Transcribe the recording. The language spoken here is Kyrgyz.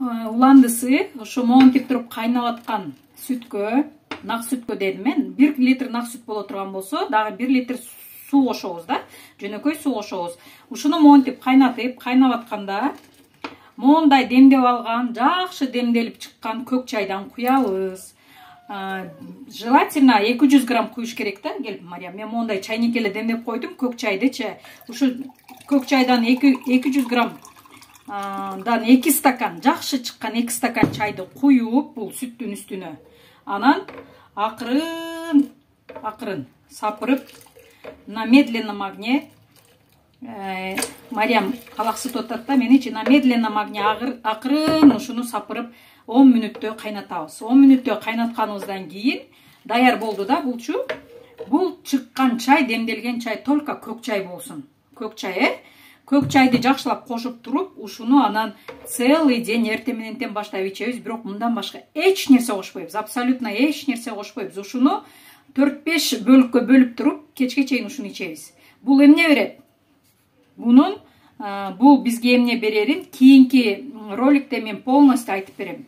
уландысы ошо моонтип туруп кайнап аткан сүткө, нак сүткө дедим мен. 1 литр нак сүт боло турган болсо, дагы 1 литр суу кошобуз да, жөнөкөй суу кошобуз. Ушуну моонтип кайнатып, кайнап атканда моундай демдеп алган, жакшы демделип чыккан көк чайдан куябыз. Желательно 200 грамм куюш керек да, келип Мария. Мен моундай чайник эле демдеп койдум, көк чайдычы. Ушу көк чайдан 200 грамм дан 2 стакан, жакшы чыккан 2 стакан чайды куюп бул сүттүн үстүнө. Анан акырын сапырып на медленном огне, Мариям алаксытып атат да, меничи на медленном огне акырын ушуну сапырып 10 мүнөттө кайнатабыз. 10 мүнөттө кайнатканыбыздан кийин даяр болду да булчу. Бул чыккан чай, демделген чай только көк чай болсун. Көк чай, көк чайды жакшылап кошуп туруп, ушуну анан целый день эртең мененден баштап ичебиз, бирок мындан башка эч нерсе кошпойбуз. Абсолютно эч нерсе кошпойбуз. Ушуну 4-5 бөлүккө бөлүп туруп, кечке чейин ушуну ичебиз. Бул эмне берет? Бул бизге эмне берерин кийинки роликте мен полностью айтып берем.